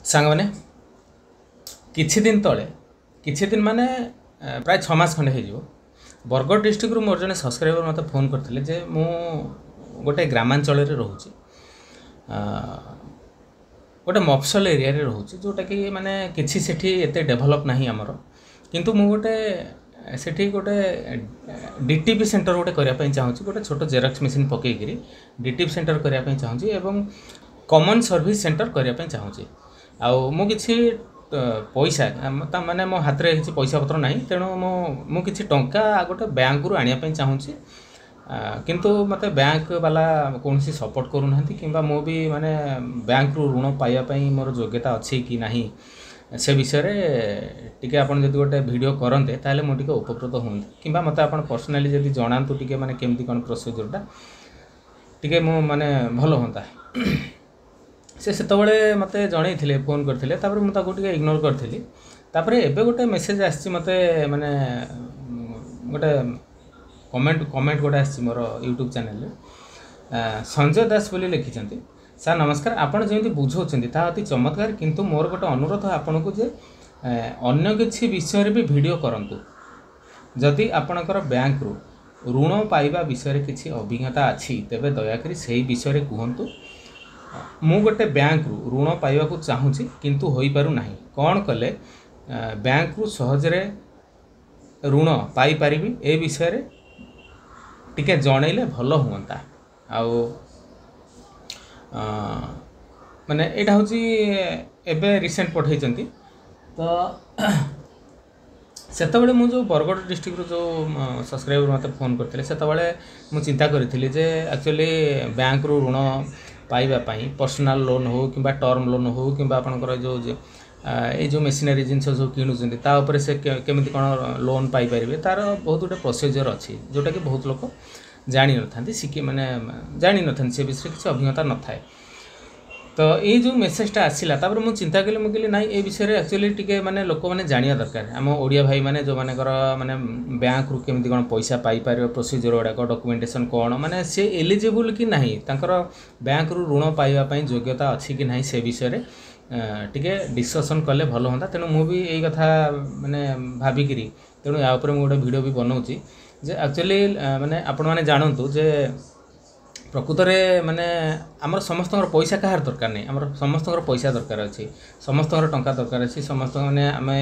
ସାଙ୍ଗମାନେ, କିଛି ଦିନ ତଳେ, କିଛି ଦିନ ମାନେ ପ୍ରାୟ 6 ମାସ ଖଣ୍ଡେ ହେଇଯିବ, ବରଗଡ଼ ଡିଷ୍ଟ୍ରିକ୍ଟରୁ ମୋର ଜଣେ ସବସ୍କ୍ରାଇବର ମୋତେ ଫୋନ୍ କରିଥିଲେ ଯେ ମୁଁ ଗୋଟେ ଗ୍ରାମାଞ୍ଚଳରେ ରହୁଛି, ଗୋଟେ ମଫସଲ ଏରିଆରେ ରହୁଛି, ଯେଉଁଟାକି ମାନେ କିଛି ସେଠି ଏତେ ଡେଭଲପ୍ ନାହିଁ ଆମର, କିନ୍ତୁ ମୁଁ ଗୋଟେ ସେଠି ଗୋଟେ ଡିଟିପି ସେଣ୍ଟର ଗୋଟେ କରିବା ପାଇଁ ଚାହୁଁଛି, ଗୋଟେ ଛୋଟ ଜେରକ୍ସ ମେସିନ୍ ପକେଇକିରି ଡିଟିପି ସେଣ୍ଟର କରିବା ପାଇଁ ଚାହୁଁଛି ଏବଂ କମନ୍ ସର୍ଭିସ୍ ସେଣ୍ଟର କରିବା ପାଇଁ ଚାହୁଁଛି। ଆଉ ମୁଁ କିଛି ପଇସା, ତା ମାନେ ମୋ ହାତରେ କିଛି ପଇସା ପତ୍ର ନାହିଁ, ତେଣୁ ମୁଁ କିଛି ଟଙ୍କା ଗୋଟେ ବ୍ୟାଙ୍କରୁ ଆଣିବା ପାଇଁ ଚାହୁଁଛି, କିନ୍ତୁ ମୋତେ ବ୍ୟାଙ୍କ ବାଲା କୌଣସି ସପୋର୍ଟ କରୁନାହାନ୍ତି, କିମ୍ବା ମୁଁ ବି ମାନେ ବ୍ୟାଙ୍କରୁ ଋଣ ପାଇବା ପାଇଁ ମୋର ଯୋଗ୍ୟତା ଅଛି କି ନାହିଁ ସେ ବିଷୟରେ ଟିକେ ଆପଣ ଯଦି ଗୋଟେ ଭିଡ଼ିଓ କରନ୍ତେ ତାହେଲେ ମୁଁ ଟିକେ ଉପକୃତ ହୁଅନ୍ତି, କିମ୍ବା ମୋତେ ଆପଣ ପର୍ସନାଲି ଯଦି ଜଣାନ୍ତୁ ଟିକେ ମାନେ କେମିତି କ'ଣ ପ୍ରୋସିଜରଟା ଟିକେ ମୁଁ ମାନେ ଭଲ ହୁଅନ୍ତା। ସେ ସେତେବେଳେ ମୋତେ ଜଣେଇଥିଲେ, ଫୋନ୍ କରିଥିଲେ, ତାପରେ ମୁଁ ତାକୁ ଟିକେ ଇଗ୍ନୋର କରିଥିଲି। ତାପରେ ଏବେ ଗୋଟେ ମେସେଜ୍ ଆସିଛି ମୋତେ, ମାନେ ଗୋଟେ କମେଣ୍ଟ ଗୋଟେ ଆସିଛି ମୋର ୟୁଟ୍ୟୁବ୍ ଚ୍ୟାନେଲରେ। ସଞ୍ଜୟ ଦାସ ବୋଲି ଲେଖିଛନ୍ତି, ସାର୍ ନମସ୍କାର, ଆପଣ ଯେମିତି ବୁଝାଉଛନ୍ତି ତାହା ଅତି ଚମତ୍କାର, କିନ୍ତୁ ମୋର ଗୋଟେ ଅନୁରୋଧ ଆପଣଙ୍କୁ ଯେ ଅନ୍ୟ କିଛି ବିଷୟରେ ବି ଭିଡ଼ିଓ କରନ୍ତୁ। ଯଦି ଆପଣଙ୍କର ବ୍ୟାଙ୍କରୁ ଋଣ ପାଇବା ବିଷୟରେ କିଛି ଅଭିଜ୍ଞତା ଅଛି ତେବେ ଦୟାକରି ସେହି ବିଷୟରେ କୁହନ୍ତୁ। ମୁଁ ଗୋଟେ ବ୍ୟାଙ୍କରୁ ଋଣ ପାଇବାକୁ ଚାହୁଁଛି କିନ୍ତୁ ହୋଇପାରୁନାହିଁ, କ'ଣ କଲେ ବ୍ୟାଙ୍କରୁ ସହଜରେ ଋଣ ପାଇପାରିବି ଏ ବିଷୟରେ ଟିକେ ଜଣେଇଲେ ଭଲ ହୁଅନ୍ତା। ଆଉ ମାନେ ଏଇଟା ହେଉଛି ଏବେ ରିସେଣ୍ଟ ପଠେଇଛନ୍ତି। ତ ସେତେବେଳେ ମୁଁ ଯେଉଁ ବରଗଡ଼ ଡିଷ୍ଟ୍ରିକ୍ଟରୁ ଯେଉଁ ସବସ୍କ୍ରାଇବର ମୋତେ ଫୋନ୍ କରିଥିଲେ, ସେତେବେଳେ ମୁଁ ଚିନ୍ତା କରିଥିଲି ଯେ ଆକ୍ଚୁଆଲି ବ୍ୟାଙ୍କରୁ ଋଣ ପାଇବା ପାଇଁ ପର୍ସନାଲ୍ ଲୋନ୍ ହେଉ କିମ୍ବା ଟର୍ମ ଲୋନ୍ ହେଉ କିମ୍ବା ଆପଣଙ୍କର ଯେଉଁ ଏଇ ଯେଉଁ ମେସିନାରୀ ଜିନିଷ ସବୁ କିଣୁଛନ୍ତି ତା ଉପରେ ସେ କେମିତି କ'ଣ ଲୋନ୍ ପାଇପାରିବେ, ତା'ର ବହୁତ ଗୋଟେ ପ୍ରୋସିଜର୍ ଅଛି ଯେଉଁଟାକି ବହୁତ ଲୋକ ଜାଣିନଥାନ୍ତି, ଶିଖି ମାନେ ଜାଣିନଥାନ୍ତି, ସେ ବିଷୟରେ କିଛି ଅଭିଜ୍ଞତା ନଥାଏ। ତ ଏଇ ଯେଉଁ ମେସେଜଟା ଆସିଲା ତାପରେ ମୁଁ ଚିନ୍ତା କଲି, ମୁଁ କହିଲି ନାଇଁ ଏ ବିଷୟରେ ଆକ୍ଚୁଆଲି ଟିକେ ମାନେ ଲୋକମାନେ ଜାଣିବା ଦରକାର। ଆମ ଓଡ଼ିଆ ଭାଇମାନେ ଯେଉଁମାନଙ୍କର ମାନେ ବ୍ୟାଙ୍କରୁ କେମିତି କ'ଣ ପଇସା ପାଇପାରିବ, ପ୍ରୋସିଜର୍ ଗୁଡ଼ାକ, ଡକୁମେଣ୍ଟେସନ୍ କ'ଣ, ମାନେ ସେ ଏଲିଜିବୁଲ୍ କି ନାହିଁ, ତାଙ୍କର ବ୍ୟାଙ୍କରୁ ଋଣ ପାଇବା ପାଇଁ ଯୋଗ୍ୟତା ଅଛି କି ନାହିଁ ସେ ବିଷୟରେ ଟିକେ ଡିସ୍କସନ୍ କଲେ ଭଲ ହୁଅନ୍ତା। ତେଣୁ ମୁଁ ବି ଏଇ କଥା ମାନେ ଭାବିକିରି ତେଣୁ ୟା ଉପରେ ମୁଁ ଗୋଟେ ଭିଡ଼ିଓ ବି ବନାଉଛି ଯେ ଆକ୍ଚୁଆଲି ମାନେ ଆପଣମାନେ ଜାଣନ୍ତୁ ଯେ ପ୍ରକୃତରେ ମାନେ ଆମର ସମସ୍ତଙ୍କର ପଇସା କାହାର ଦରକାର ନାହିଁ, ଆମର ସମସ୍ତଙ୍କର ପଇସା ଦରକାର ଅଛି, ସମସ୍ତଙ୍କର ଟଙ୍କା ଦରକାର ଅଛି, ସମସ୍ତଙ୍କ ମାନେ ଆମେ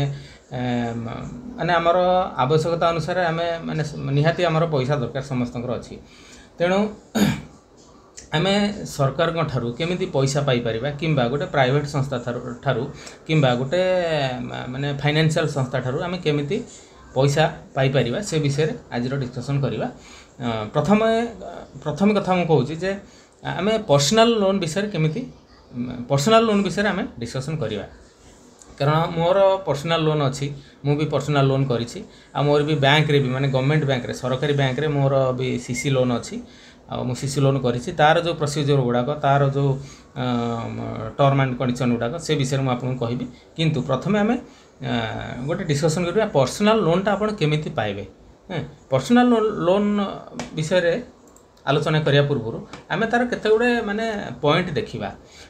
ମାନେ ଆମର ଆବଶ୍ୟକତା ଅନୁସାରେ ଆମେ ମାନେ ନିହାତି ଆମର ପଇସା ଦରକାର ସମସ୍ତଙ୍କର ଅଛି। ତେଣୁ ଆମେ ସରକାରଙ୍କ ଠାରୁ କେମିତି ପଇସା ପାଇପାରିବା କିମ୍ବା ଗୋଟେ ପ୍ରାଇଭେଟ୍ ସଂସ୍ଥା ଠାରୁ କିମ୍ବା ଗୋଟେ ମାନେ ଫାଇନାନ୍ସିଆଲ୍ ସଂସ୍ଥା ଠାରୁ ଆମେ କେମିତି ପଇସା ପାଇପାରିବା ସେ ବିଷୟରେ ଆଜିର ଡିସ୍କସନ୍ କରିବା। ପ୍ରଥମେ କଥା ମୁଁ କହୁଛି ଯେ ଆମେ ପର୍ସନାଲ୍ ଲୋନ୍ ବିଷୟରେ କେମିତି, ପର୍ସନାଲ୍ ଲୋନ୍ ବିଷୟରେ ଆମେ ଡିସ୍କସନ୍ କରିବା, କାରଣ ମୋର ପର୍ସନାଲ୍ ଲୋନ୍ ଅଛି, ମୁଁ ବି ପର୍ସନାଲ୍ ଲୋନ୍ କରିଛି, ଆଉ ମୋର ବି ବ୍ୟାଙ୍କରେ ବି ମାନେ ଗଭର୍ଣ୍ଣମେଣ୍ଟ ବ୍ୟାଙ୍କରେ, ସରକାରୀ ବ୍ୟାଙ୍କରେ ମୋର ବି ସି ସି ଲୋନ୍ ଅଛି, ଆଉ ମୁଁ ସି ସି ଲୋନ୍ କରିଛି। ତା'ର ଯେଉଁ ପ୍ରୋସିଜର୍ ଗୁଡ଼ାକ, ତା'ର ଯେଉଁ ଟର୍ମ ଆଣ୍ଡ କଣ୍ଡିସନ୍ ଗୁଡ଼ାକ ସେ ବିଷୟରେ ମୁଁ ଆପଣଙ୍କୁ କହିବି। କିନ୍ତୁ ପ୍ରଥମେ ଆମେ ଗୋଟେ ଡିସ୍କସନ୍ କରିବା ପର୍ସନାଲ୍ ଲୋନ୍ଟା ଆପଣ କେମିତି ପାଇବେ। ପର୍ସନାଲ୍ ଲୋନ୍ ବିଷୟରେ ଆଲୋଚନା କରିବା ପୂର୍ବରୁ ଆମେ ତା'ର କେତେ ଗୁଡ଼ିଏ ମାନେ ପଏଣ୍ଟ ଦେଖିବା।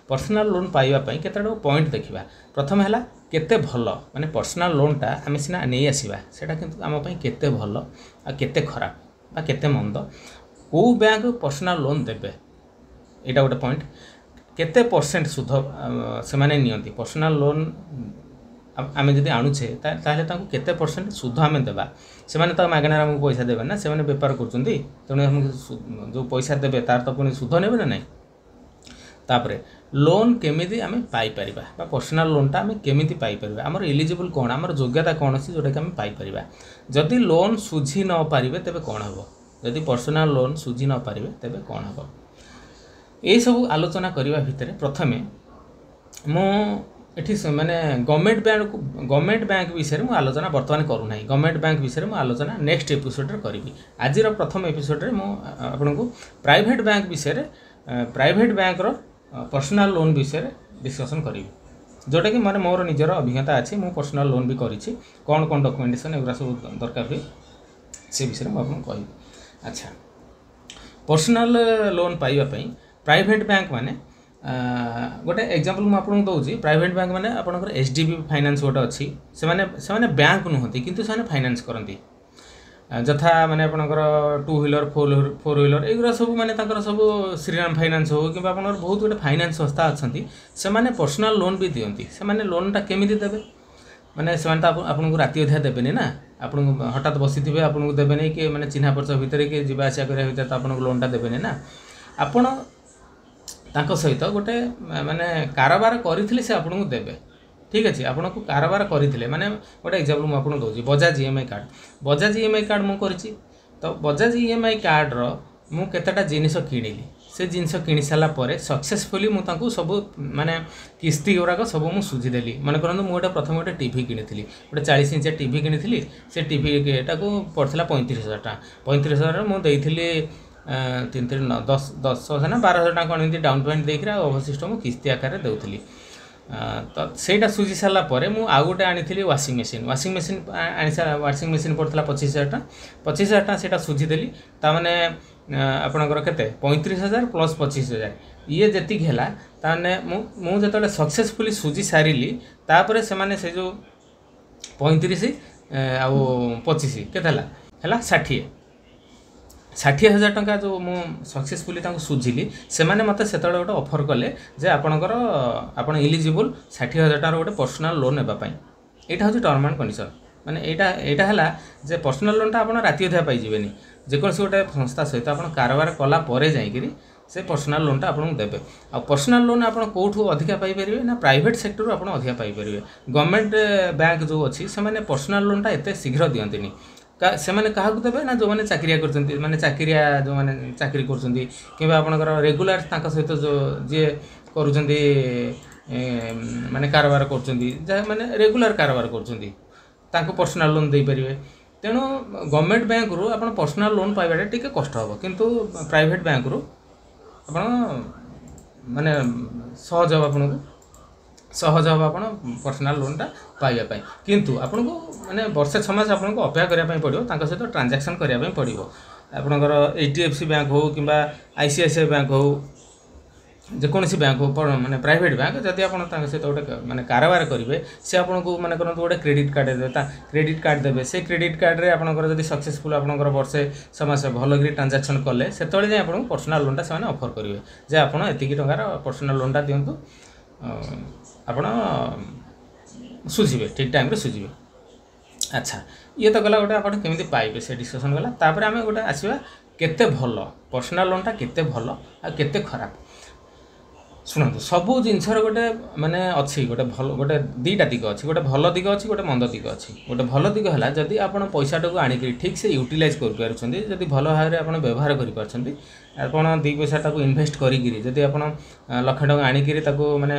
ପର୍ସନାଲ୍ ଲୋନ୍ ପାଇବା ପାଇଁ କେତେ ଗୁଡ଼ିଏ ପଏଣ୍ଟ ଦେଖିବା। ପ୍ରଥମେ ହେଲା କେତେ ଭଲ, ମାନେ ପର୍ସନାଲ୍ ଲୋନ୍ଟା ଆମେ ସିନା ନେଇ ଆସିବା, ସେଇଟା କିନ୍ତୁ ଆମ ପାଇଁ କେତେ ଭଲ ଆଉ କେତେ ଖରାପ ବା କେତେ ମନ୍ଦ, କେଉଁ ବ୍ୟାଙ୍କ ପର୍ସନାଲ୍ ଲୋନ୍ ଦେବେ, ଏଇଟା ଗୋଟେ ପଏଣ୍ଟ। କେତେ ପରସେଣ୍ଟ ସୁଧ ସେମାନେ ନିଅନ୍ତି ପର୍ସନାଲ୍ ଲୋନ୍ ଆମେ ଯଦି ଆଣୁଛେ ତାହେଲେ ତାଙ୍କୁ କେତେ ପରସେଣ୍ଟ ସୁଧ ଆମେ ଦେବା। ସେମାନେ ତ ମାଗଣାରେ ଆମକୁ ପଇସା ଦେବେ ନା, ସେମାନେ ବେପାର କରୁଛନ୍ତି, ତେଣୁ ଆମକୁ ଯେଉଁ ପଇସା ଦେବେ ତାର ତ ପୁଣି ସୁଧ ନେବେ ନା ନାହିଁ। ତାପରେ ଲୋନ୍ କେମିତି ଆମେ ପାଇପାରିବା ବା ପର୍ସନାଲ୍ ଲୋନ୍ଟା ଆମେ କେମିତି ପାଇପାରିବା, ଆମର ଏଲିଜିବୁଲ୍ କ'ଣ, ଆମର ଯୋଗ୍ୟତା କ'ଣ ଅଛି ଯେଉଁଟାକି ଆମେ ପାଇପାରିବା। ଯଦି ଲୋନ୍ ସୁଝି ନ ପାରିବେ ତେବେ କ'ଣ ହେବ, ଯଦି ପର୍ସନାଲ୍ ଲୋନ୍ ସୁଝି ନ ପାରିବେ ତେବେ କ'ଣ ହେବ, ଏଇସବୁ ଆଲୋଚନା କରିବା ଭିତରେ ପ୍ରଥମେ ମୁଁ ଏଠି ମାନେ ଗଭର୍ଣ୍ଣମେଣ୍ଟ ବ୍ୟାଙ୍କ ବିଷୟରେ ମୁଁ ଆଲୋଚନା ବର୍ତ୍ତମାନ କରୁନାହିଁ। ଗଭର୍ଣ୍ଣମେଣ୍ଟ ବ୍ୟାଙ୍କ ବିଷୟରେ ମୁଁ ଆଲୋଚନା ନେକ୍ସଟ ଏପିସୋଡ଼ରେ କରିବି। ଆଜିର ପ୍ରଥମ ଏପିସୋଡ଼ରେ ମୁଁ ଆପଣଙ୍କୁ ପ୍ରାଇଭେଟ୍ ବ୍ୟାଙ୍କ ବିଷୟରେ, ପ୍ରାଇଭେଟ୍ ବ୍ୟାଙ୍କର ପର୍ସନାଲ୍ ଲୋନ୍ ବିଷୟରେ ଡିସ୍କସନ୍ କରିବି, ଯେଉଁଟାକି ମାନେ ମୋର ନିଜର ଅଭିଜ୍ଞତା ଅଛି, ମୁଁ ପର୍ସନାଲ୍ ଲୋନ୍ ବି କରିଛି, କ'ଣ କ'ଣ ଡକୁମେଣ୍ଟେସନ୍ ଏଗୁଡ଼ା ସବୁ ଦରକାର ହୁଏ ସେ ବିଷୟରେ ମୁଁ ଆପଣଙ୍କୁ କହିବି। ଆଚ୍ଛା, ପର୍ସନାଲ୍ ଲୋନ୍ ପାଇବା ପାଇଁ ପ୍ରାଇଭେଟ୍ ବ୍ୟାଙ୍କ ମାନେ ଗୋଟେ ଏକ୍ଜାମ୍ପଲ୍ ମୁଁ ଆପଣଙ୍କୁ ଦେଉଛି। ପ୍ରାଇଭେଟ୍ ବ୍ୟାଙ୍କ ମାନେ ଆପଣଙ୍କର HDB finance ଗୋଟେ ଅଛି। ସେମାନେ ସେମାନେ ବ୍ୟାଙ୍କ ନୁହନ୍ତି, କିନ୍ତୁ ସେମାନେ ଫାଇନାନ୍ସ କରନ୍ତି। ଯଥା ମାନେ ଆପଣଙ୍କର ଟୁ ହ୍ୱିଲର, ଫୋର୍ ହ୍ୱିଲର, ଏଇଗୁଡ଼ା ସବୁ ମାନେ ତାଙ୍କର ସବୁ ଶ୍ରୀରାମ ଫାଇନାନ୍ସ ହଉ କିମ୍ବା ଆପଣଙ୍କର ବହୁତ ଗୋଟେ ଫାଇନାନ୍ସ ସଂସ୍ଥା ଅଛନ୍ତି, ସେମାନେ ପର୍ସନାଲ୍ ଲୋନ୍ ବି ଦିଅନ୍ତି। ସେମାନେ ଲୋନ୍ଟା କେମିତି ଦେବେ? ମାନେ ସେମାନେ ତ ଆପଣଙ୍କୁ ରାତି ଅଧିଆ ଦେବେନି ନା। ଆପଣଙ୍କୁ ହଠାତ୍ ବସିଥିବେ, ଆପଣଙ୍କୁ ଦେବେନି କି ମାନେ ଚିହ୍ନା ପରିଚୟ ଭିତରେ କି ଯିବା ଆସିବା କରିବା ଭିତରେ ତ ଆପଣଙ୍କୁ ଲୋନ୍ଟା ଦେବେନି ନା। ଆପଣ ତାଙ୍କ ସହିତ ଗୋଟେ ମାନେ କାରବାର କରିଥିଲେ ସେ ଆପଣଙ୍କୁ ଦେବେ। ଠିକ୍ ଅଛି, ଆପଣଙ୍କୁ କାରବାର କରିଥିଲେ ମାନେ ଗୋଟେ ଏକ୍ଜାମ୍ପଲ୍ ମୁଁ ଆପଣଙ୍କୁ ଦେଉଛି, Bajaj EMI card. Bajaj EMI card ମୁଁ କରିଛି। ତ ବଜାଜ ଇଏମ୍ଆଇ କାର୍ଡ଼ର ମୁଁ କେତେଟା ଜିନିଷ କିଣିଲି। ସେ ଜିନିଷ କିଣି ସାରିଲା ପରେ ସକ୍ସେସଫୁଲି ମୁଁ ତାଙ୍କୁ ସବୁ ମାନେ କିସ୍ତି ଗୁଡ଼ାକ ସବୁ ମୁଁ ସୁଝିଦେଲି। ମନେ କରନ୍ତୁ, ମୁଁ ଗୋଟେ ପ୍ରଥମେ ଗୋଟେ ଟିଭି କିଣିଥିଲି, ଗୋଟେ 40 ଇଞ୍ଚ ଟିଭି କିଣିଥିଲି। ସେ ଟିଭିଟାକୁ ପଡ଼ିଥିଲା 35,000 ଟଙ୍କା। 35,000 ମୁଁ ଦେଇଥିଲି, ତିନି ତିନି ନଅ ଦଶ, 10,000 ନା 12,000 ଟଙ୍କା କ'ଣ ଏମିତି ଡାଉନ୍ ପେମେଣ୍ଟ ଦେଇକିରି ଆଉ ଅବଶିଷ୍ଟ ମୁଁ କିସ୍ତି ଆକାରରେ ଦେଉଥିଲି। ତ ସେଇଟା ସୁଝି ସାରିଲା ପରେ ମୁଁ ଆଉ ଗୋଟେ ଆଣିଥିଲି ୱାସିଂ ମେସିନ୍। ୱାସିଂ ମେସିନ୍ ଆଣି ୱାସିଂ ମେସିନ୍ ପଡ଼ିଥିଲା 25,000 ଟଙ୍କା। 25,000 ଟଙ୍କା ସେଇଟା ସୁଝିଦେଲି। ତାମାନେ ଆପଣଙ୍କର କେତେ? 35,000 ପ୍ଲସ୍ 25,000 ଇଏ ଯେତିକି ହେଲା, ତାମାନେ ମୁଁ ଯେତେବେଳେ ସକ୍ସେସଫୁଲି ସୁଝି ସାରିଲି, ତାପରେ ସେମାନେ ସେ ଯେଉଁ 35 ଆଉ 25 କେତେ ହେଲା? ହେଲା 60। 60,000 ଟଙ୍କା ଯେଉଁ ମୁଁ ସକ୍ସେସଫୁଲି ତାଙ୍କୁ ସୁଝିଲି, ସେମାନେ ମୋତେ ସେତେବେଳେ ଗୋଟେ ଅଫର୍ କଲେ ଯେ ଆପଣ ଇଲିଜିବୁଲ୍ 60,000 ଟଙ୍କାର ଗୋଟେ ପର୍ସନାଲ୍ ଲୋନ୍ ନେବା ପାଇଁ। ଏଇଟା ହେଉଛି ଟର୍ମ ଆଣ୍ଡ କଣ୍ଡିସନ୍। ମାନେ ଏଇଟା ହେଲା ଯେ ପର୍ସନାଲ୍ ଲୋନ୍ଟା ଆପଣ ରାତି ଅଧିଆ ପାଇଯିବେନି। ଯେକୌଣସି ଗୋଟେ ସଂସ୍ଥା ସହିତ ଆପଣ କାରବାର କଲା ପରେ ଯାଇକିରି ସେ ପର୍ସନାଲ୍ ଲୋନ୍ଟା ଆପଣଙ୍କୁ ଦେବେ। ଆଉ ପର୍ସନାଲ୍ ଲୋନ୍ ଆପଣ କେଉଁଠୁ ଅଧିକା ପାଇପାରିବେ ନା ପ୍ରାଇଭେଟ୍ ସେକ୍ଟରରୁ ଆପଣ ଅଧିକା ପାଇପାରିବେ। ଗଭର୍ଣ୍ଣମେଣ୍ଟ ବ୍ୟାଙ୍କ ଯେଉଁ ଅଛି, ସେମାନେ ପର୍ସନାଲ୍ ଲୋନ୍ଟା ଏତେ ଶୀଘ୍ର ଦିଅନ୍ତିନି। ସେମାନେ କାହାକୁ ଦେବେ ନା ଯେଉଁମାନେ ଚାକିରିଆ କରୁଛନ୍ତି, ମାନେ ଚାକିରିଆ ଯେଉଁମାନେ ଚାକିରି କରୁଛନ୍ତି କିମ୍ବା ଆପଣଙ୍କର ରେଗୁଲାର ତାଙ୍କ ସହିତ ଯେଉଁ ଯିଏ କରୁଛନ୍ତି, ମାନେ କାରବାର କରୁଛନ୍ତି, ଯାହା ମାନେ ରେଗୁଲାର କାରବାର କରୁଛନ୍ତି, ତାଙ୍କୁ ପର୍ସନାଲ୍ ଲୋନ୍ ଦେଇପାରିବେ। ତେଣୁ ଗଭର୍ଣ୍ଣମେଣ୍ଟ ବ୍ୟାଙ୍କରୁ ଆପଣ ପର୍ସନାଲ୍ ଲୋନ୍ ପାଇବାଟା ଟିକେ କଷ୍ଟ ହେବ, କିନ୍ତୁ ପ୍ରାଇଭେଟ୍ ବ୍ୟାଙ୍କରୁ ଆପଣ ମାନେ ସହଜ ହେବ, ଆପଣଙ୍କୁ ସହଜ ହେବ ଆପଣ ପର୍ସନାଲ୍ ଲୋନ୍ଟା ପାଇବା ପାଇଁ। କିନ୍ତୁ ଆପଣଙ୍କୁ ମାନେ ବର୍ଷେ 6 ମାସ ଆପଣଙ୍କୁ ଅପେକ୍ଷା କରିବା ପାଇଁ ପଡ଼ିବ, ତାଙ୍କ ସହିତ ଟ୍ରାଞ୍ଜାକ୍ସନ୍ କରିବା ପାଇଁ ପଡ଼ିବ। ଆପଣଙ୍କର HDFC bank ହେଉ କିମ୍ବା ICICI bank ହେଉ, ଯେକୌଣସି ବ୍ୟାଙ୍କ ହଉ, ମାନେ ପ୍ରାଇଭେଟ୍ ବ୍ୟାଙ୍କ, ଯଦି ଆପଣ ତାଙ୍କ ସହିତ ଗୋଟେ ମାନେ କାରବାର କରିବେ, ସେ ଆପଣଙ୍କୁ ମାନେ କରନ୍ତୁ ଗୋଟେ କ୍ରେଡ଼ିଟ୍ କାର୍ଡ଼ ଦେବେ, ତା କ୍ରେଡ଼ିଟ୍ କାର୍ଡ଼ ଦେବେ। ସେ କ୍ରେଡ଼ିଟ୍ କାର୍ଡ଼ରେ ଆପଣଙ୍କର ଯଦି ସକ୍ସେସଫୁଲ୍ ଆପଣଙ୍କର ବର୍ଷେ 6 ମାସ ଭଲକରି ଟ୍ରାଞ୍ଜାକ୍ସନ୍ କଲେ, ସେତେବେଳେ ଯାଇ ଆପଣଙ୍କୁ ପର୍ସନାଲ୍ ଲୋନ୍ଟା ସେମାନେ ଅଫର୍ କରିବେ ଯେ ଆପଣ ଏତିକି ଟଙ୍କାର ପର୍ସନାଲ୍ ଲୋନ୍ଟା ଦିଅନ୍ତୁ, ଆପଣ ସୁଝିବେ, ଠିକ୍ ଟାଇମ୍ରେ ସୁଝିବେ। ଆଚ୍ଛା, ଇଏ ତ ଗଲା ଗୋଟେ ଆପଣ କେମିତି ପାଇବେ ସେ ଡିସ୍କସନ୍ ଗଲା। ତାପରେ ଆମେ ଗୋଟେ ଆସିବା କେତେ ଭଲ ପର୍ସନାଲ୍ ଲୋନ୍ଟା, କେତେ ଭଲ ଆଉ କେତେ ଖରାପ। ଶୁଣନ୍ତୁ, ସବୁ ଜିନିଷର ଗୋଟେ ମାନେ ଅଛି ଗୋଟେ ଭଲ, ଗୋଟେ ଦୁଇଟା ଦିଗ ଅଛି। ଗୋଟେ ଭଲ ଦିଗ ଅଛି, ଗୋଟେ ମନ୍ଦ ଦିଗ ଅଛି। ଗୋଟେ ଭଲ ଦିଗ ହେଲା, ଯଦି ଆପଣ ପଇସାଟାକୁ ଆଣିକରି ଠିକ୍ ସେ ୟୁଟିଲାଇଜ୍ କରିପାରୁଛନ୍ତି, ଯଦି ଭଲ ଭାବରେ ଆପଣ ବ୍ୟବହାର କରିପାରୁଛନ୍ତି, ଆପଣ ଦୁଇ ପଇସାଟାକୁ ଇନଭେଷ୍ଟ କରିକିରି, ଯଦି ଆପଣ ଲକ୍ଷେ ଟଙ୍କା ଆଣିକିରି ତାକୁ ମାନେ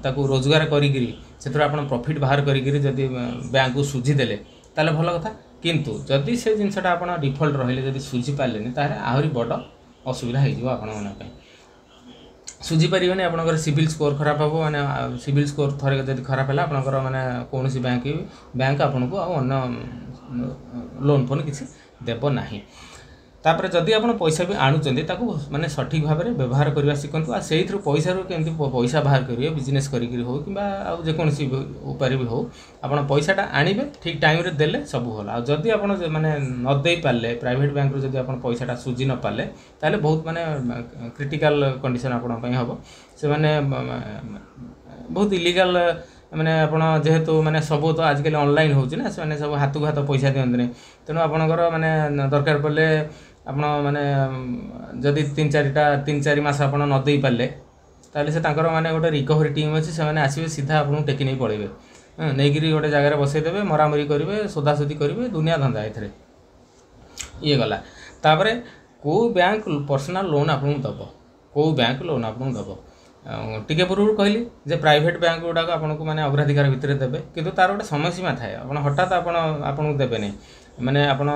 ତାକୁ ରୋଜଗାର କରିକିରି ସେଥିରୁ ଆପଣ ପ୍ରଫିଟ୍ ବାହାର କରିକିରି ଯଦି ବ୍ୟାଙ୍କକୁ ସୁଝିଦେଲେ, ତାହେଲେ ଭଲ କଥା। କିନ୍ତୁ ଯଦି ସେ ଜିନିଷଟା ଆପଣ ଡିଫଲ୍ଟ ରହିଲେ, ଯଦି ସୁଝି ପାରିଲେନି, ତାହେଲେ ଆହୁରି ବଡ଼ ଅସୁବିଧା ହେଇଯିବ ଆପଣମାନଙ୍କ ପାଇଁ। ସୁଝି ପାରିବେନି, ଆପଣଙ୍କର ସିବିଲ୍ ସ୍କୋର୍ ଖରାପ ହେବ। ମାନେ ସିବିଲ୍ ସ୍କୋର୍ ଥରେ ଯଦି ଖରାପ ହେଲା, ଆପଣଙ୍କର ମାନେ କୌଣସି ବ୍ୟାଙ୍କ ଆପଣଙ୍କୁ ଆଉ ଅନ୍ୟ ଲୋନ୍ ଫୋନ୍ କିଛି ଦେବ ନାହିଁ। ତାପରେ ଯଦି ଆପଣ ପଇସା ବି ଆଣୁଛନ୍ତି, ତାକୁ ମାନେ ସଠିକ୍ ଭାବରେ ବ୍ୟବହାର କରିବା ଶିଖନ୍ତୁ। ଆଉ ସେଇଥିରୁ ପଇସାରୁ କେମିତି ପଇସା ବାହାର କରିବେ, ବିଜନେସ୍ କରିକିରି ହେଉ କିମ୍ବା ଆଉ ଯେକୌଣସି ଉପାୟରେ ବି ହେଉ, ଆପଣ ପଇସାଟା ଆଣିବେ, ଠିକ୍ ଟାଇମ୍ରେ ଦେଲେ ସବୁ ଭଲ। ଆଉ ଯଦି ଆପଣ ମାନେ ନ ଦେଇପାରିଲେ, ପ୍ରାଇଭେଟ୍ ବ୍ୟାଙ୍କରୁ ଯଦି ଆପଣ ପଇସାଟା ସୁଝି ନ ପାରିଲେ, ତାହେଲେ ବହୁତ ମାନେ କ୍ରିଟିକାଲ୍ କଣ୍ଡିସନ୍ ଆପଣଙ୍କ ପାଇଁ ହେବ। ସେମାନେ ବହୁତ ଇଲିଗାଲ୍, ମାନେ ଆପଣ ଯେହେତୁ ମାନେ ସବୁ ତ ଆଜିକାଲି ଅନଲାଇନ୍ ହେଉଛି ନା, ସେମାନେ ସବୁ ହାତକୁ ହାତ ପଇସା ଦିଅନ୍ତିନି। ତେଣୁ ଆପଣଙ୍କର ମାନେ ଦରକାର ପଡ଼ିଲେ ଆପଣ ମାନେ ଯଦି ତିନି ଚାରିଟା 3-4 ମାସ ଆପଣ ନ ଦେଇପାରିଲେ, ତାହେଲେ ସେ ତାଙ୍କର ମାନେ ଗୋଟେ ରିକଭରି ଟିମ୍ ଅଛି, ସେମାନେ ଆସିବେ, ସିଧା ଆପଣଙ୍କୁ ଟେକି ନେଇ ପଳେଇବେ, ନେଇକିରି ଗୋଟେ ଜାଗାରେ ବସେଇଦେବେ, ମରାମରି କରିବେ, ଶୋଧାଶୋଧି କରିବେ, ଦୁନିଆ ଧନ୍ଦା ଏଥିରେ। ଇଏ ଗଲା। ତାପରେ କେଉଁ ବ୍ୟାଙ୍କ ପର୍ସନାଲ୍ ଲୋନ୍ ଆପଣଙ୍କୁ ଦେବ? କେଉଁ ବ୍ୟାଙ୍କ ଲୋନ୍ ଆପଣଙ୍କୁ ଦେବ? ଟିକେ ପୂର୍ବରୁ କହିଲି ଯେ ପ୍ରାଇଭେଟ୍ ବ୍ୟାଙ୍କ ଗୁଡ଼ାକ ଆପଣଙ୍କୁ ମାନେ ଅଗ୍ରାଧିକାର ଭିତରେ ଦେବେ, କିନ୍ତୁ ତାର ଗୋଟେ ସମୟ ସୀମା ଥାଏ। ଆପଣ ହଠାତ୍ ଆପଣଙ୍କୁ ଦେବେନି। ମାନେ ଆପଣ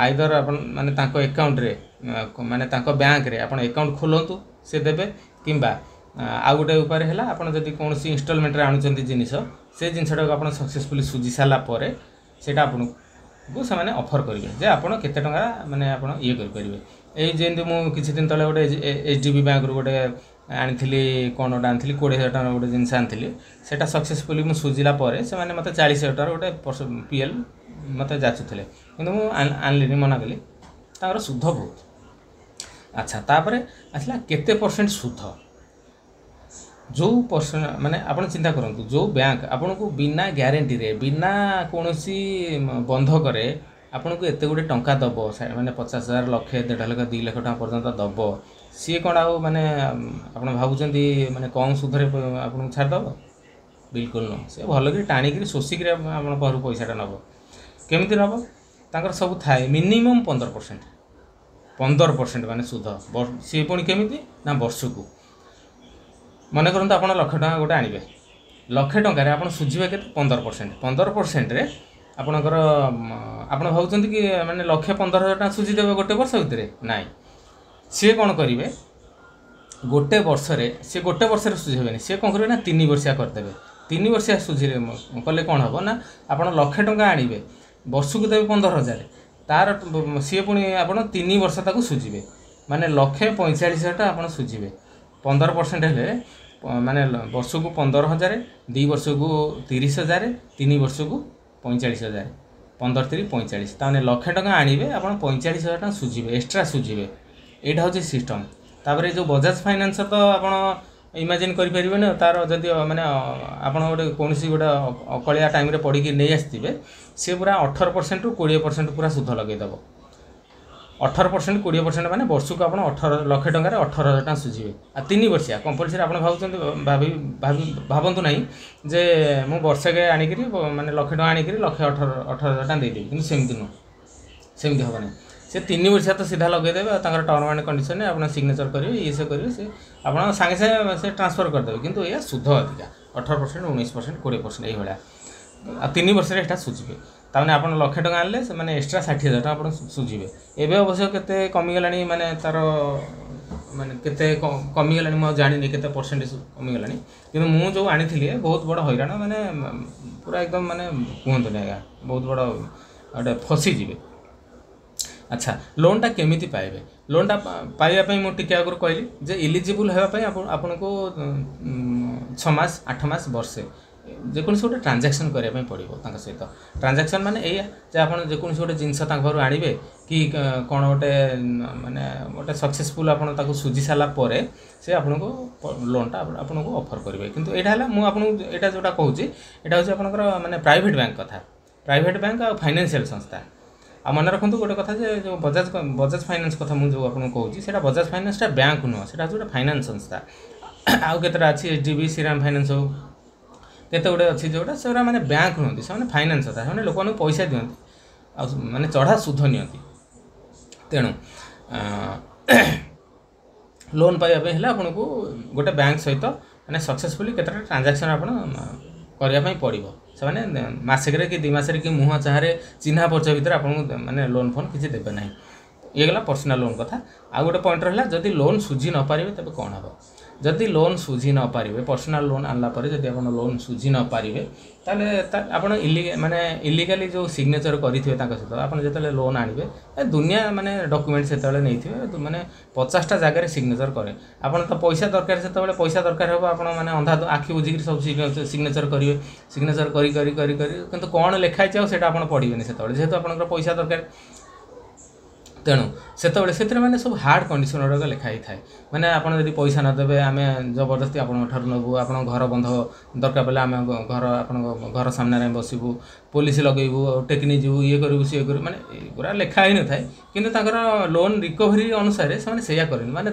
ଆଇଦର ଆପଣ ମାନେ ତାଙ୍କ ଆକାଉଣ୍ଟରେ, ମାନେ ତାଙ୍କ ବ୍ୟାଙ୍କରେ ଆପଣ ଆକାଉଣ୍ଟ ଖୋଲନ୍ତୁ, ସେ ଦେବେ, କିମ୍ବା ଆଉ ଗୋଟେ ଉପାୟରେ ହେଲା ଆପଣ ଯଦି କୌଣସି ଇନଷ୍ଟଲମେଣ୍ଟରେ ଆଣୁଛନ୍ତି ଜିନିଷ, ସେ ଜିନିଷଟାକୁ ଆପଣ ସକ୍ସେସଫୁଲି ସୁଝି ସାରିଲା ପରେ ସେଇଟା ଆପଣଙ୍କୁ ସେମାନେ ଅଫର୍ କରିବେ ଯେ ଆପଣ କେତେ ଟଙ୍କା ମାନେ ଆପଣ ଇଏ କରିପାରିବେ। ଏଇ ଯେମିତି ମୁଁ କିଛି ଦିନ ତଳେ ଗୋଟେ HDB ବ୍ୟାଙ୍କରୁ ଗୋଟେ ଆଣିଥିଲି, କ'ଣ ଗୋଟେ ଆଣିଥିଲି, 20,000 ଟଙ୍କାର ଗୋଟେ ଜିନିଷ ଆଣିଥିଲି। ସେଇଟା ସକ୍ସେସଫୁଲି ମୁଁ ସୁଝିଲା ପରେ ସେମାନେ ମୋତେ 40,000 ଟଙ୍କାର ଗୋଟେ PL ମୋତେ ଯାଚୁଥିଲେ, କିନ୍ତୁ ମୁଁ ଆଣିଲିନି, ମନା କଲି। ତାଙ୍କର ସୁଧ ବହୁତ। ଆଚ୍ଛା, ତାପରେ ଆସିଲା କେତେ ପରସେଣ୍ଟ ସୁଧ। ଯେଉଁ ପରସେଣ୍ଟ ମାନେ ଆପଣ ଚିନ୍ତା କରନ୍ତୁ, ଯେଉଁ ବ୍ୟାଙ୍କ ଆପଣଙ୍କୁ ବିନା ଗ୍ୟାରେଣ୍ଟିରେ, ବିନା କୌଣସି ବନ୍ଧକରେ ଆପଣଙ୍କୁ ଏତେ ଗୁଡ଼ିଏ ଟଙ୍କା ଦେବ, ମାନେ 50,000, ଲକ୍ଷେ, 1.5 ଲକ୍ଷ, 2 ଲକ୍ଷ ଟଙ୍କା ପର୍ଯ୍ୟନ୍ତ ଦେବ, ସିଏ କ'ଣ ଆଉ ମାନେ ଆପଣ ଭାବୁଛନ୍ତି ମାନେ କମ୍ ସୁଧରେ ଆପଣଙ୍କୁ ଛାଡ଼ିଦେବ? ବିଲକୁଲ ନୁହଁ। ସେ ଭଲକରି ଟାଣିକିରି ଶୋଷିକିରି ଆପଣ ପାଖରୁ ପଇସାଟା ନେବ। କେମିତି ନେବ? ତାଙ୍କର ସବୁ ଥାଏ ମିନିମମ୍ 15%, 15% ମାନେ ସୁଧ। ସିଏ ପୁଣି କେମିତି ନା ବର୍ଷକୁ। ମନେ କରନ୍ତୁ ଆପଣ ଲକ୍ଷେ ଟଙ୍କା ଗୋଟେ ଆଣିବେ, ଲକ୍ଷେ ଟଙ୍କାରେ ଆପଣ ସୁଝିବେ କେତେ? 15%। 15%ରେ ଆପଣଙ୍କର, ଆପଣ ଭାବୁଛନ୍ତି କି ମାନେ 1,15,000 ଟଙ୍କା ସୁଝିଦେବେ ଗୋଟେ ବର୍ଷ ଭିତରେ? ନାଇଁ, ସିଏ କ'ଣ କରିବେ, ଗୋଟେ ବର୍ଷରେ ସିଏ ଗୋଟେ ବର୍ଷରେ ସୁଝିବେନି। ସିଏ କ'ଣ କରିବେ ନା 3 ବର୍ଷିଆ କରିଦେବେ। 3 ବର୍ଷିଆ ସୁଝିଲେ କଲେ କ'ଣ ହେବ ନା ଆପଣ ଲକ୍ଷେ ଟଙ୍କା ଆଣିବେ, ବର୍ଷକୁ ଦେବେ 15,000, ତାର ସିଏ ପୁଣି ଆପଣ 3 ବର୍ଷ ତାକୁ ସୁଝିବେ, ମାନେ 1,45,000 ଟଙ୍କା ଆପଣ ସୁଝିବେ। 15% ହେଲେ ମାନେ ବର୍ଷକୁ 15,000, 2 ବର୍ଷକୁ 30,000, 3 ବର୍ଷକୁ 45,000। 15 ତିରି 45। ତାମାନେ ଲକ୍ଷେ ଟଙ୍କା ଆଣିବେ, ଆପଣ 45,000 ଟଙ୍କା ସୁଝିବେ, ଏକ୍ସଟ୍ରା ସୁଝିବେ। ଏଇଟା ହେଉଛି ସିଷ୍ଟମ୍। ତାପରେ ଯେଉଁ ବଜାଜ ଫାଇନାନ୍ସ ତ ଆପଣ ଇମାଜିନ୍ କରିପାରିବେନି। ତାର ଯଦି ମାନେ ଆପଣ ଗୋଟେ କୌଣସି ଗୋଟେ ଅକଳିଆ ଟାଇମ୍ରେ ପଡ଼ିକି ନେଇ ଆସିଥିବେ, ସିଏ ପୁରା 18%ରୁ 20% ପୁରା ସୁଧ ଲଗେଇଦେବ। 18%, 20% ମାନେ ବର୍ଷକୁ ଆପଣ ଲକ୍ଷେ ଟଙ୍କାରେ 18,000 ଟଙ୍କା ସୁଝିବେ। ଆଉ 3 ବର୍ଷିଆ କମ୍ପଲସରି। ଆପଣ ଭାବୁଛନ୍ତି, ଭାବି ଭାବି ଭାବନ୍ତୁ ନାହିଁ ଯେ ମୁଁ ବର୍ଷକେ ଆଣିକିରି, ମାନେ ଲକ୍ଷେ ଟଙ୍କା ଆଣିକିରି ଲକ୍ଷେ ଅଠର ହଜାର ଟଙ୍କା ଦେଇଦେବି। କିନ୍ତୁ ସେମିତି ନୁହଁ, ସେମିତି ହେବ ନାହିଁ। ସେ 3 ବର୍ଷିଆ ତ ସିଧା ଲଗେଇଦେବେ ଆଉ ତାଙ୍କର ଟର୍ମ ଆଣ୍ଡ କଣ୍ଡିସନରେ ଆପଣ ସିଗ୍ନେଚର୍ କରିବେ, ଇଏ ସେ କରିବେ, ସେ ଆପଣ ସାଙ୍ଗେ ସାଙ୍ଗେ ସେ ଟ୍ରାନ୍ସଫର୍ କରିଦେବେ। କିନ୍ତୁ ଏଇଆ ସୁଧ ଅଧିକା, 18%, 19%, 20% ଏଇଭଳିଆ। ଆଉ 3 ବର୍ଷରେ ଏଇଟା ସୁଝିବେ। ତାମାନେ ଆପଣ ଲକ୍ଷେ ଟଙ୍କା ଆଣିଲେ ସେମାନେ ଏକ୍ସଟ୍ରା 60,000 ଟଙ୍କା ଆପଣ ସୁଝିବେ। ଏବେ ଅବଶ୍ୟ କେତେ କମିଗଲାଣି, ମାନେ ତାର ମାନେ କେତେ କମିଗଲାଣି ମୁଁ ଆଉ ଜାଣିନି, କେତେ ପରସେଣ୍ଟେଜ କମିଗଲାଣି। କିନ୍ତୁ ମୁଁ ଯେଉଁ ଆଣିଥିଲି, ବହୁତ ବଡ଼ ହଇରାଣ, ମାନେ ପୁରା ଏକଦମ ମାନେ କୁହନ୍ତୁନି ଆଜ୍ଞା, ବହୁତ ବଡ଼ ଗୋଟେ ଫସିଯିବେ। ଆଚ୍ଛା, ଲୋନ୍ଟା କେମିତି ପାଇବେ? ଲୋନ୍ଟା ପାଇବା ପାଇଁ ମୁଁ ଟିକେ ଆଗରୁ କହିଲି ଯେ ଇଲିଜିବୁଲ୍ ହେବା ପାଇଁ ଆପଣଙ୍କୁ 6 ମାସ, 8 ମାସ, ବର୍ଷେ ଯେକୌଣସି ଗୋଟେ ଟ୍ରାଞ୍ଜାକ୍ସନ୍ କରିବା ପାଇଁ ପଡ଼ିବ ତାଙ୍କ ସହିତ। ଟ୍ରାଞ୍ଜାକ୍ସନ୍ ମାନେ ଏଇଆ ଯେ ଆପଣ ଯେକୌଣସି ଗୋଟେ ଜିନିଷ ତାଙ୍କ ଘରୁ ଆଣିବେ କି କ'ଣ ଗୋଟେ ମାନେ ଗୋଟେ ସକ୍ସେସଫୁଲ୍ ଆପଣ ତାକୁ ସୁଝି ସାରିଲା ପରେ ସେ ଆପଣଙ୍କୁ ଲୋନ୍ଟା ଆପଣଙ୍କୁ ଅଫର୍ କରିବେ। କିନ୍ତୁ ଏଇଟା ହେଲା, ମୁଁ ଆପଣଙ୍କୁ ଏଇଟା ଯେଉଁଟା କହୁଛି, ଏଇଟା ହେଉଛି ଆପଣଙ୍କର ମାନେ ପ୍ରାଇଭେଟ୍ ବ୍ୟାଙ୍କ କଥା, ପ୍ରାଇଭେଟ୍ ବ୍ୟାଙ୍କ ଆଉ ଫାଇନାନ୍ସିଆଲ୍ ସଂସ୍ଥା। ଆଉ ମନେ ରଖନ୍ତୁ ଗୋଟେ କଥା ଯେ ଯେଉଁ ବଜାଜ ଫାଇନାନ୍ସ କଥା ମୁଁ ଯେଉଁ ଆପଣଙ୍କୁ କହୁଛି, ସେଇଟା ବଜାଜ ଫାଇନାନ୍ସଟା ବ୍ୟାଙ୍କ ନୁହଁ, ସେଇଟା ହେଉଛି ଗୋଟେ ଫାଇନାନ୍ସ ସଂସ୍ଥା। ଆଉ କେତେଟା ଅଛି, HDB, Shriram finance ହଉ, କେତେ ଗୁଡ଼ିଏ ଅଛି ଯେଉଁଟା ସେଗୁଡ଼ା ମାନେ ବ୍ୟାଙ୍କ ନୁହନ୍ତି, ସେମାନେ ଫାଇନାନ୍ସ ସଂସ୍ଥା। ସେମାନେ ଲୋକମାନଙ୍କୁ ପଇସା ଦିଅନ୍ତି ଆଉ ମାନେ ଚଢ଼ା ସୁଧ ନିଅନ୍ତି। ତେଣୁ ଲୋନ୍ ପାଇବା ପାଇଁ ହେଲେ ଆପଣଙ୍କୁ ଗୋଟେ ବ୍ୟାଙ୍କ ସହିତ ମାନେ ସକ୍ସେସଫୁଲି କେତେଟା ଟ୍ରାଞ୍ଜାକ୍ସନ୍ ଆପଣ କରିବା ପାଇଁ ପଡ଼ିବ। ସେମାନେ ମାସକରେ କି 2 ମାସରେ କି ମୁହଁ ଚାହାରେ ଚିହ୍ନା ପରିଚୟ ଭିତରେ ଆପଣଙ୍କୁ ମାନେ ଲୋନ୍ ଫୋନ୍ କିଛି ଦେବେ ନାହିଁ। ଇଏ ଗଲା ପର୍ସନାଲ୍ ଲୋନ୍ କଥା। ଆଉ ଗୋଟେ ପଏଣ୍ଟ ରହିଲା, ଯଦି ଲୋନ୍ ସୁଝି ନ ପାରିବେ ତେବେ କ'ଣ ହେବ? ଯଦି ଲୋନ୍ ସୁଝି ନ ପାରିବେ, ପର୍ସନାଲ୍ ଲୋନ୍ ଆଣିଲା ପରେ ଯଦି ଆପଣ ଲୋନ୍ ସୁଝି ନ ପାରିବେ, ତାହେଲେ ଆପଣ ମାନେ ଇଲିଗାଲି ଯେଉଁ ସିଗ୍ନେଚର୍ କରିଥିବେ ତାଙ୍କ ସହିତ, ଆପଣ ଯେତେବେଳେ ଲୋନ୍ ଆଣିବେ, ଏ ଦୁନିଆ ମାନେ ଡକୁମେଣ୍ଟ ସେତେବେଳେ ନେଇଥିବେ, ମାନେ 50ଟା ଜାଗାରେ ସିଗ୍ନେଚର୍ କରେ। ଆପଣ ତ ପଇସା ଦରକାର, ସେତେବେଳେ ପଇସା ଦରକାର ହେବ, ଆପଣ ମାନେ ଅନ୍ଧା ଆଖି ବୁଜିକିରି ସବୁ ସିଗ୍ନେଚର୍ କରିବେ। ସିଗ୍ନେଚର୍ କରି କରି କରି କରି କିନ୍ତୁ କ'ଣ ଲେଖା ହେଇଛି ଆଉ ସେଇଟା ଆପଣ ପଢ଼ିବେନି ସେତେବେଳେ, ଯେହେତୁ ଆପଣଙ୍କର ପଇସା ଦରକାର। ତେଣୁ ସେତେବେଳେ ସେଥିରେ ମାନେ ସବୁ ହାର୍ଡ଼ କଣ୍ଡିସନ୍ ଗୁଡ଼ାକ ଲେଖା ହେଇଥାଏ। ମାନେ ଆପଣ ଯଦି ପଇସା ନ ଦେବେ, ଆମେ ଜବରଦସ୍ତି ଆପଣଙ୍କ ଠାରୁ ନେବୁ, ଆପଣଙ୍କ ଘର ବନ୍ଧ, ଦରକାର ପଡ଼ିଲେ ଆମେ ଘର ଆପଣଙ୍କ ଘର ସାମ୍ନାରେ ଆମେ ବସିବୁ, ପୋଲିସ ଲଗେଇବୁ, ଟେକି ନେଇଯିବୁ, ଇଏ କରିବୁ, ସିଏ କରିବୁ, ମାନେ ଏଗୁଡ଼ା ଲେଖା ହେଇନଥାଏ। କିନ୍ତୁ ତାଙ୍କର ଲୋନ୍ ରିକଭରି ଅନୁସାରେ ସେମାନେ ସେଇଆ କରନ୍ତି। ମାନେ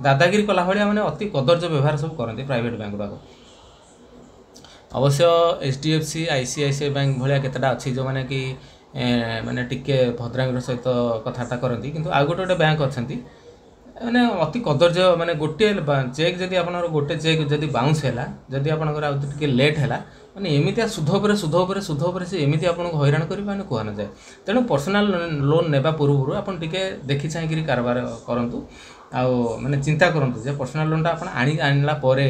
ଦାଦାଗିରି କଲା ଭଳିଆ, ମାନେ ଅତି କଦର୍ଯ୍ୟ ବ୍ୟବହାର ସବୁ କରନ୍ତି ପ୍ରାଇଭେଟ୍ ବ୍ୟାଙ୍କ ଗୁଡ଼ାକ। ଅବଶ୍ୟ HDFC, ICICI bank ଭଳିଆ କେତେଟା ଅଛି ଯେଉଁମାନେ କି ମାନେ ଟିକେ ଭଦ୍ରାମିର ସହିତ କଥାବାର୍ତ୍ତା କରନ୍ତି। କିନ୍ତୁ ଆଉ ଗୋଟେ ଗୋଟେ ବ୍ୟାଙ୍କ ଅଛନ୍ତି ମାନେ ଅତି କଦର୍ଯ୍ୟ। ମାନେ ଗୋଟିଏ ଚେକ୍ ଯଦି ଆପଣଙ୍କର ଗୋଟେ ଚେକ୍ ଯଦି ବାଉନ୍ସ ହେଲା, ଯଦି ଆପଣଙ୍କର ଆଉ ଟିକେ ଲେଟ୍ ହେଲା, ମାନେ ଏମିତିଆ ସୁଧ ଉପରେ ସୁଧ ଉପରେ ସୁଧ ଉପରେ ସେ ଏମିତି ଆପଣଙ୍କୁ ହଇରାଣ କରିବେ, ମାନେ କୁହା ନଯାଏ। ତେଣୁ ପର୍ସନାଲ୍ ଲୋନ୍ ନେବା ପୂର୍ବରୁ ଆପଣ ଟିକେ ଦେଖି ଚାହିଁକିରି କାରବାର କରନ୍ତୁ ଆଉ ମାନେ ଚିନ୍ତା କରନ୍ତୁ ଯେ ପର୍ସନାଲ୍ ଲୋନ୍ଟା ଆପଣ ଆଣିଲା ପରେ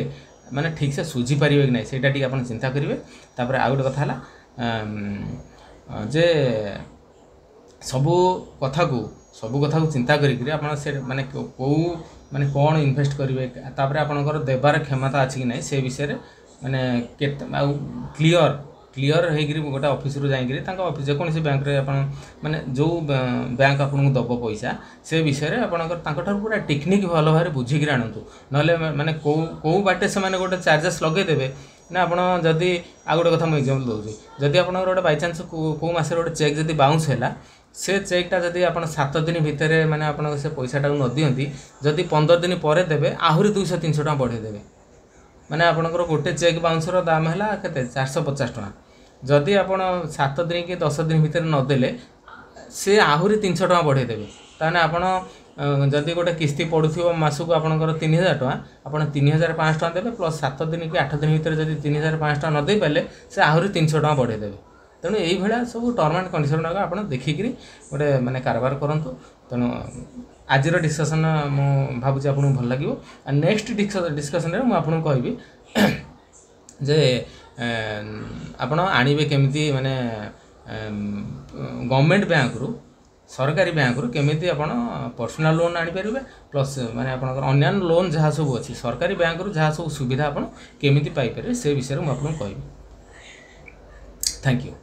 ମାନେ ଠିକ୍ସେ ସୁଝି ପାରିବେ କି ନାହିଁ, ସେଇଟା ଟିକେ ଆପଣ ଚିନ୍ତା କରିବେ। ତାପରେ ଆଉ ଗୋଟେ କଥା ହେଲା ଯେ ସବୁ କଥାକୁ ଚିନ୍ତା କରିକିରି ଆପଣ ସେ ମାନେ କେଉଁ ମାନେ କ'ଣ ଇନଭେଷ୍ଟ କରିବେ, ତାପରେ ଆପଣଙ୍କର ଦେବାର କ୍ଷମତା ଅଛି କି ନାହିଁ ସେ ବିଷୟରେ, ମାନେ କେତେ ଆଉ କ୍ଲିଅର୍ କ୍ଲିଅର୍ ହେଇକିରି ଗୋଟେ ଅଫିସରୁ ଯାଇକିରି ତାଙ୍କ ଅଫିସ, ଯେକୌଣସି ବ୍ୟାଙ୍କରେ ଆପଣ ମାନେ ଯେଉଁ ବ୍ୟାଙ୍କ ଆପଣଙ୍କୁ ଦେବ ପଇସା, ସେ ବିଷୟରେ ଆପଣଙ୍କର ତାଙ୍କଠାରୁ ପୁରା ଟେକ୍ନିକ୍ ଭଲ ଭାବରେ ବୁଝିକିରି ଆଣନ୍ତୁ। ନହେଲେ ମାନେ କେଉଁ କେଉଁ ବାଟେ ସେମାନେ ଗୋଟେ ଚାର୍ଜେସ୍ ଲଗେଇଦେବେ ନା। ଆପଣ ଯଦି, ଆଉ ଗୋଟେ କଥା ମୁଁ ଏକ୍ଜାମ୍ପଲ୍ ଦେଉଛି, ଯଦି ଆପଣଙ୍କର ଗୋଟେ ବାଇଚାନ୍ସ କେଉଁ ମାସରେ ଗୋଟେ ଚେକ୍ ଯଦି ବାଉନ୍ସ ହେଲା, ସେ ଚେକ୍ଟା ଯଦି ଆପଣ 7 ଦିନ ଭିତରେ ମାନେ ଆପଣଙ୍କ ସେ ପଇସାଟାକୁ ନ ଦିଅନ୍ତି, ଯଦି 15 ଦିନ ପରେ ଦେବେ, ଆହୁରି 200 300 ଟଙ୍କା ବଢ଼େଇ ଦେବେ। ମାନେ ଆପଣଙ୍କର ଗୋଟେ ଚେକ୍ ବାଉନ୍ସର ଦାମ ହେଲା କେତେ? 450 ଟଙ୍କା। ଯଦି ଆପଣ 7 ଦିନ କି 10 ଦିନ ଭିତରେ ନଦେଲେ, ସେ ଆହୁରି 300 ଟଙ୍କା ବଢ଼େଇ ଦେବେ। ତାହେଲେ ଆପଣ ଯଦି ଗୋଟେ କିସ୍ତି ପଡ଼ୁଥିବ ମାସକୁ ଆପଣଙ୍କର 3000 ଟଙ୍କା, ଆପଣ 3500 ଟଙ୍କା ଦେବେ, ପ୍ଲସ୍ 7 ଦିନ କି 8 ଦିନ ଭିତରେ ଯଦି 3500 ଟଙ୍କା ନ ଦେଇପାରିଲେ, ସେ ଆହୁରି 300 ଟଙ୍କା ବଢ଼େଇ ଦେବେ। ତେଣୁ ଏଇଭଳିଆ ସବୁ ଟର୍ମ ଆଣ୍ଡ କଣ୍ଡିସନ୍ ଗୁଡ଼ାକ ଆପଣ ଦେଖିକିରି ଗୋଟେ ମାନେ କାରବାର କରନ୍ତୁ। ତେଣୁ ଆଜିର ଡିସ୍କସନ୍ ମୁଁ ଭାବୁଛି ଆପଣଙ୍କୁ ଭଲ ଲାଗିବ। ଆଉ ନେକ୍ସଟ ଡିସ୍କସନ୍ରେ ମୁଁ ଆପଣଙ୍କୁ କହିବି ଯେ ଆପଣ ଆଣିବେ କେମିତି, ମାନେ ଗଭର୍ଣ୍ଣମେଣ୍ଟ ବ୍ୟାଙ୍କରୁ, ସରକାରୀ ବ୍ୟାଙ୍କରୁ କେମିତି ଆପଣ ପର୍ସନାଲ୍ ଲୋନ୍ ଆଣିପାରିବେ, ପ୍ଲସ୍ ମାନେ ଆପଣଙ୍କର ଅନ୍ୟାନ୍ୟ ଲୋନ୍ ଯାହା ସବୁ ଅଛି, ସରକାରୀ ବ୍ୟାଙ୍କରୁ ଯାହା ସବୁ ସୁବିଧା ଆପଣ କେମିତି ପାଇପାରିବେ, ସେ ବିଷୟରେ ମୁଁ ଆପଣଙ୍କୁ କହିବି। Thank you.